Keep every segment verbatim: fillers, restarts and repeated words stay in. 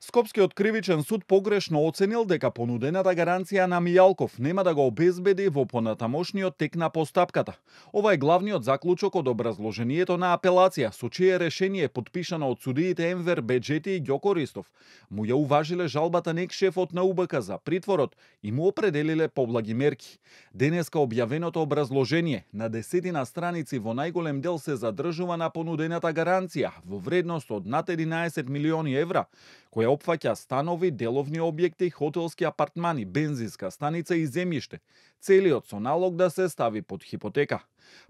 Скопскиот кривичен суд погрешно оценил дека понудената гаранција на Мијалков нема да го обезбеди во понатамошниот тек на постапката. Ова е главниот заклучок од образложението на апелација, со чие решение е подпишано од судиите Енвер Беџети и Ѓоко Ристов. Му ја уважиле жалбата на екс-шефот на У Б К за притворот и му определиле поблаги мерки. Денеска објавеното образложение на десетина страници во најголем дел се задржува на понудената гаранција во вредност од над единаесет милиони евра, која опфаќа станови, деловни објекти, хотелски апартмани, бензинска станица и земјиште, целиот со налог да се стави под хипотека.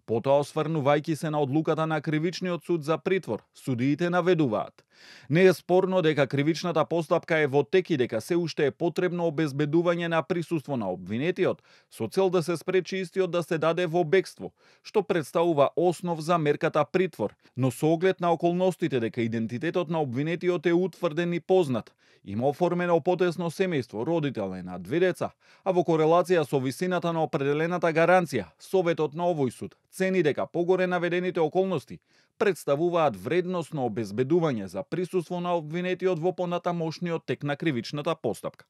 Потоа, осврнувајќи се на одлуката на Кривичниот суд за притвор, судиите наведуваат: не е спорно дека кривичната постапка е во тек и дека се уште е потребно обезбедување на присуство на обвинетиот со цел да се спречи истиот да се даде во бегство, што представува основ за мерката притвор, но со оглед на околностите дека идентитетот на обвинетиот е утврден и познат, има оформено потесно семејство, родител е на две деца, а во корелација со висината на определената гаранција, Советот на овој суд цени дека погоре наведените околности представуваат вредносно обезбедување за присуство на обвинетиот во понатамошниот тек на кривичната постапка.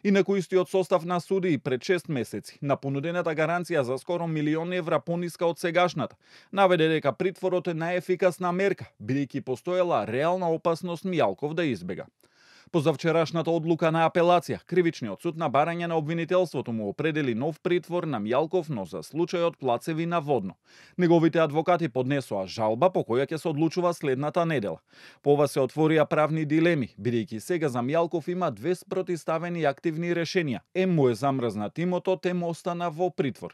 Инаку истиот состав на судии пред шест месеци на понудената гаранција за скоро милион евра пониска од сегашната наведе дека притворот е најефикасна мерка, бидејќи постоела реална опасност Мијалков да избега. По завчерашната одлука на апелација, Кривичниот суд на барање на обвинителството му определи нов притвор на Мијалков, но за случајот Плацеви наводно. Неговите адвокати поднесоа жалба по која ќе се одлучува следната недела. По ова се отворија правни дилеми, бидејќи сега за Мијалков има две спротивставени активни решенија. Ем му е замрзнат имотот, ем остана во притвор.